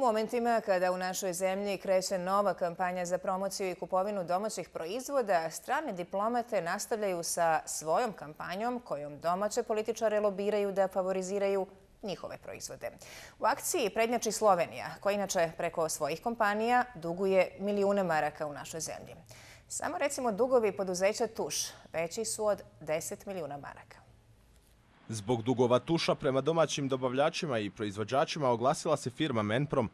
momentima kada u našoj zemlji kreće nova kampanja za promociju i kupovinu domaćih proizvoda, strane diplomate nastavljaju sa svojom kampanjom kojom domaće političare lobiraju da favoriziraju njihove proizvode. U akciji prednjači Slovenija, koja inače preko svojih kompanija duguje milijune maraka u našoj zemlji. Samo recimo dugovi poduzeća Tuš veći su od 10 milijuna maraka. Zbog dugova Tuša prema domaćim dobavljačima i proizvođačima oglasila se firma Menprom.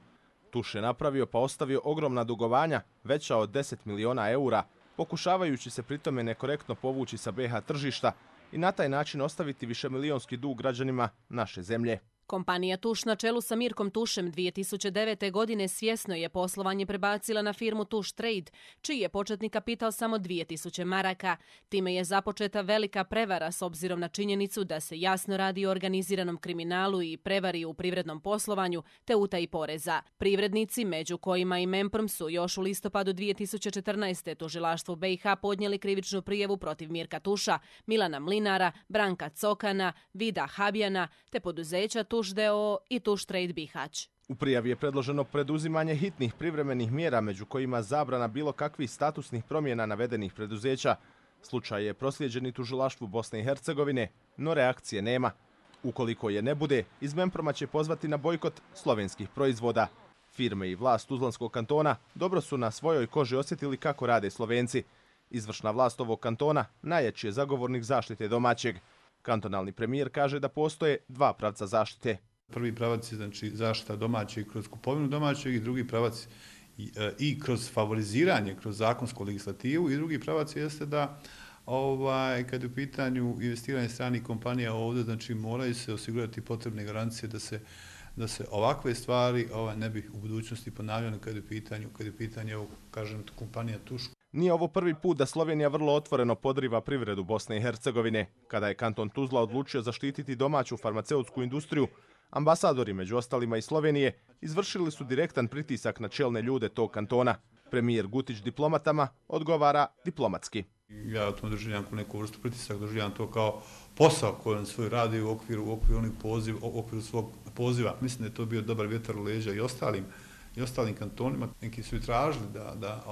Tuš je napravio pa ostavio ogromna dugovanja, veća od 10 miliona eura, pokušavajući se pritome nekorektno povući sa BiH tržišta i na taj način ostaviti višemilijonski dug građanima naše zemlje. Kompanija Tuš na čelu sa Mirkom Tušem 2009. godine svjesno je poslovanje prebacila na firmu Tuš Trade, čiji je početni kapital samo 2000 maraka. Time je započeta velika prevara s obzirom na činjenicu da se jasno radi o organiziranom kriminalu i prevari u privrednom poslovanju te utaji poreza. Privrednici, među kojima i Menprom, su još u listopadu 2014. tužilaštvu BiH podnijeli krivičnu prijavu protiv Mirka Tuša, Milana Mlinara, Branka Cokana, Vida Habjana te poduzeća Tuš d.o.o. i Tuš Trade Bihać. U prijavi je predloženo preduzimanje hitnih privremenih mjera, među kojima zabrana bilo kakvih statusnih promjena navedenih preduzeća. Slučaj je proslijeđen i tužilaštvu Bosne i Hercegovine, no reakcije nema. Ukoliko je ne bude, iz Menproma će pozvati na bojkot slovenskih proizvoda. Firme i vlast Tuzlanskog kantona dobro su na svojoj koži osjetili kako rade Slovenci. Izvršna vlast ovog kantona najjači je zagovornik zaštite domaćeg. Kantonalni premijer kaže da postoje dva pravca zaštite. Prvi pravac je znači zaštita domaćeg kroz kupovinu domaćeg i drugi pravac i kroz favoriziranje, kroz zakonsku legislativu, i drugi pravac jeste da kad je u pitanju investiranje stranih kompanija ovdje, znači moraju se osigurati potrebne garancije da se ovakve stvari ne bi u budućnosti ponavljane kad je u pitanju kažem, kompanija Tuš. Nije ovo prvi put da Slovenija vrlo otvoreno podriva privredu Bosne i Hercegovine. Kada je kanton Tuzla odlučio zaštititi domaću farmaceutsku industriju, ambasadori, među ostalima i Slovenije, izvršili su direktan pritisak na čelne ljude tog kantona. Premijer Gutić diplomatama odgovara diplomatski. Ja to doživljam kao neku vrstu pritisak, doživljam to kao posao koji on svoj radi u okviru svog poziva. Mislim da je to bio dobar vjetar u leđa i ostalim kantonima. Neki su i tražili da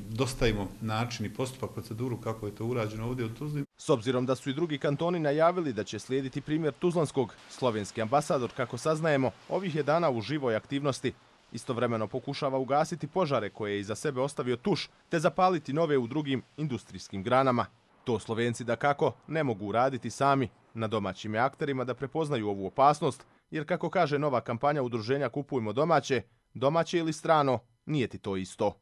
dostavimo način i postupak, proceduru kako je to urađeno ovdje u Tuzli. S obzirom da su i drugi kantoni najavili da će slijediti primjer Tuzlanskog, slovenski ambasador, kako saznajemo, ovih je dana u živoj aktivnosti. Istovremeno pokušava ugasiti požare koje je iza sebe ostavio Tuš, te zapaliti nove u drugim industrijskim granama. To Slovenci dakako ne mogu uraditi sami. Na domaćim je akterima da prepoznaju ovu opasnost, jer kako kaže nova kampanja udruženja Kupujmo domaće, domaće ili strano, nije ti to isto.